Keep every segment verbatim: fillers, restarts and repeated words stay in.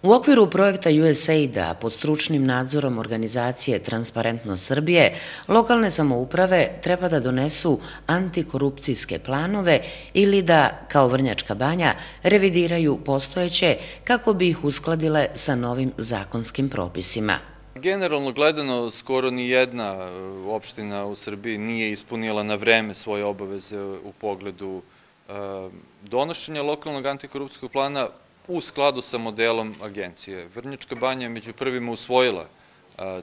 U okviru projekta U S A I D-a pod stručnim nadzorom organizacije Transparentnost Srbije, lokalne samouprave treba da donesu antikorupcijske planove ili da, kao Vrnjačka Banja, revidiraju postojeće kako bi ih uskladile sa novim zakonskim propisima. Generalno gledano, skoro ni jedna opština u Srbiji nije ispunila na vreme svoje obaveze u pogledu donošenja lokalnog antikorupcijskog plana u skladu sa modelom agencije. Vrnjačka Banja je među prvima usvojila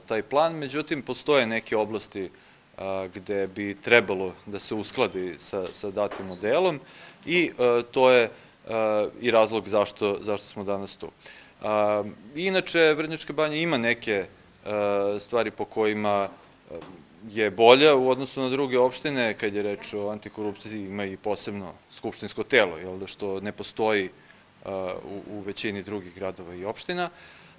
taj plan, međutim postoje neke oblasti gde bi trebalo da se uskladi sa datim modelom i to je i razlog zašto smo danas tu. Inače, Vrnjačka Banja ima neke stvari po kojima je bolja u odnosu na druge opštine, kad je reč o antikorupciji ima i posebno skupštinsko telo, što ne postoji u većini drugih gradova i opština,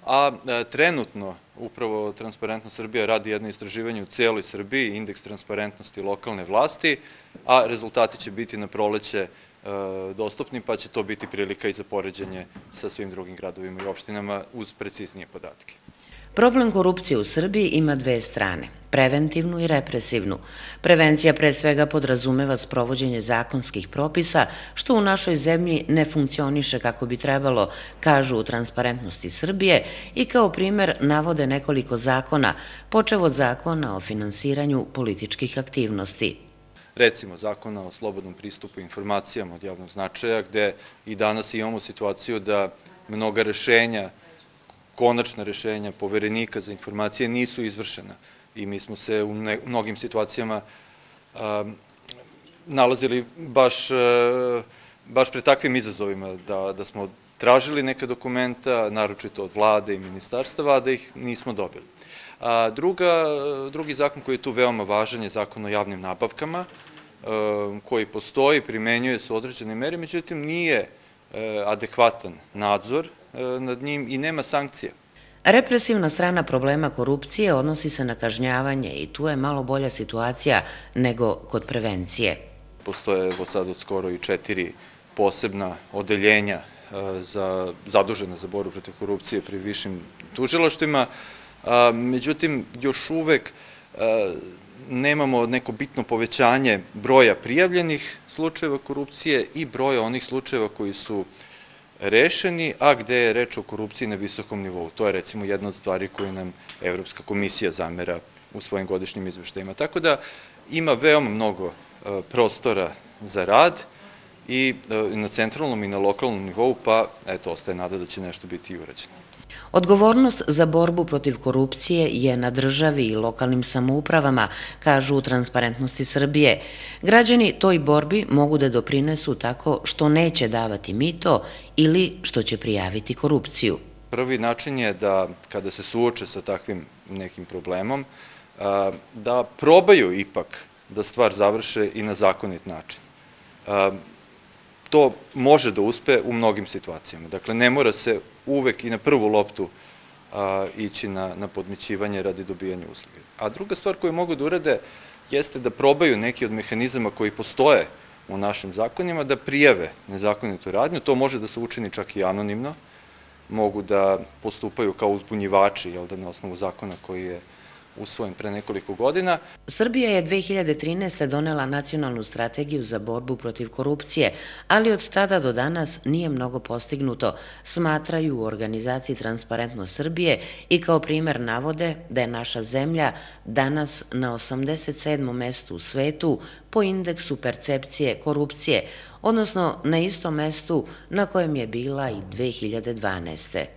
a trenutno upravo Transparentnost Srbija radi jedno istraživanje u celoj Srbiji, indeks transparentnosti lokalne vlasti, a rezultati će biti na proleće dostupni, pa će to biti prilika i za poređenje sa svim drugim gradovima i opštinama uz preciznije podatke. Problem korupcije u Srbiji ima dve strane, preventivnu i represivnu. Prevencija pre svega podrazumeva sprovođenje zakonskih propisa, što u našoj zemlji ne funkcioniše kako bi trebalo, kažu u Transparentnosti Srbije i kao primer navode nekoliko zakona, počev od zakona o finansiranju političkih aktivnosti. Recimo, zakona o slobodnom pristupu informacijama od javnog značaja, gde i danas imamo situaciju da mnoga rešenja, konačna rešenja Poverenika za informacije nisu izvršena i mi smo se u mnogim situacijama nalazili baš pred takvim izazovima da smo tražili neka dokumenta, naročito od vlade i ministarstava, a da ih nismo dobili. Drugi zakon koji je tu veoma važan je zakon o javnim nabavkama, koji postoji, primenjuje se u određenoj meri, međutim nije adekvatan nadzor nad njim i nema sankcija. Represivna strana problema korupcije odnosi se na kažnjavanje i tu je malo bolja situacija nego kod prevencije. Postoje sad od skoro i četiri posebna odeljenja zadužena za borbu protiv korupcije pri višim tužilaštvima, međutim još uvek nemamo neko bitno povećanje broja prijavljenih slučajeva korupcije i broja onih slučajeva koji su rešeni, a gde je reč o korupciji na visokom nivou. To je recimo jedna od stvari koju nam Evropska komisija zamera u svojim godišnjim izveštajima. Tako da ima veoma mnogo prostora za rad i na centralnom i na lokalnom nivou, pa eto, ostaje nada da će nešto biti i urađeno. Odgovornost za borbu protiv korupcije je na državi i lokalnim samoupravama, kažu u Transparentnosti Srbije. Građani toj borbi mogu da doprinesu tako što neće davati mito ili što će prijaviti korupciju. Prvi način je da, kada se suoče sa takvim nekim problemom, da probaju ipak da stvar završe i na zakonit način. To može da uspe u mnogim situacijama. Dakle, ne mora se uvek i na prvu loptu ići na podmićivanje radi dobijanja usluge. A druga stvar koju mogu da urade jeste da probaju neki od mehanizama koji postoje u našim zakonima, da prijave nezakonitu radnju. To može da se učini čak i anonimno. Mogu da postupaju kao uzbunjivači, jel da, na osnovu zakona koji je usvojen pre nekoliko godina. Srbija je dve hiljade trinaeste. donela nacionalnu strategiju za borbu protiv korupcije, ali od tada do danas nije mnogo postignuto, smatraju u organizaciji Transparentnost Srbije i kao primer navode da je naša zemlja danas na osamdeset sedmom mestu u svetu po indeksu percepcije korupcije, odnosno na istom mestu na kojem je bila i dve hiljade dvanaeste.